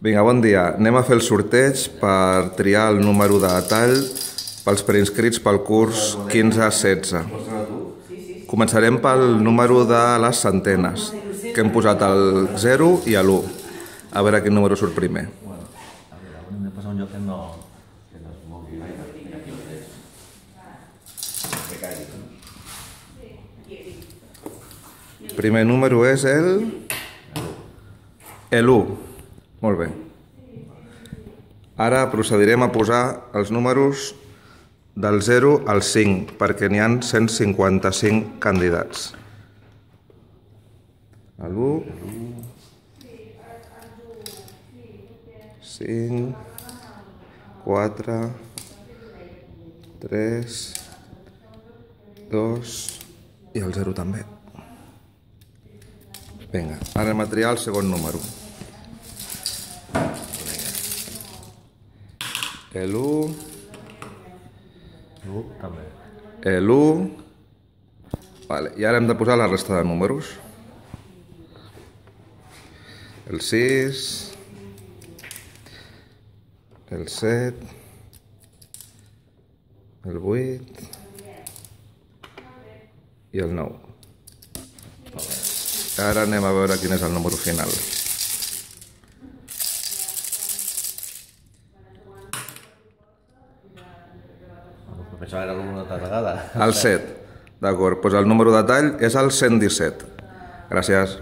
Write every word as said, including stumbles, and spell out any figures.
Vinga, bon dia. Anem a fer el sorteig per triar el número de tall pels preinscrits pel curs quinze setze. Començarem pel número de les centenes, que hem posat el zero i l'u. A veure quin número surt primer. Primer número és el... l'u. Molt bé. Ara procedirem a posar els números del zero al cinc, perquè n'hi ha cent cinquanta-cinc candidats. l'u, cinc, quatre, tres, dos i el zero també. Vinga, ara anem a triar el segon número. l'u, l'u, i ara hem de posar la resta de números. El sis, el set, el vuit i el nou. Ara anem a veure quin és el número final. Pensava que era l'una altra vegada. El set. D'acord, doncs el número de tall és el cent disset. Gràcies.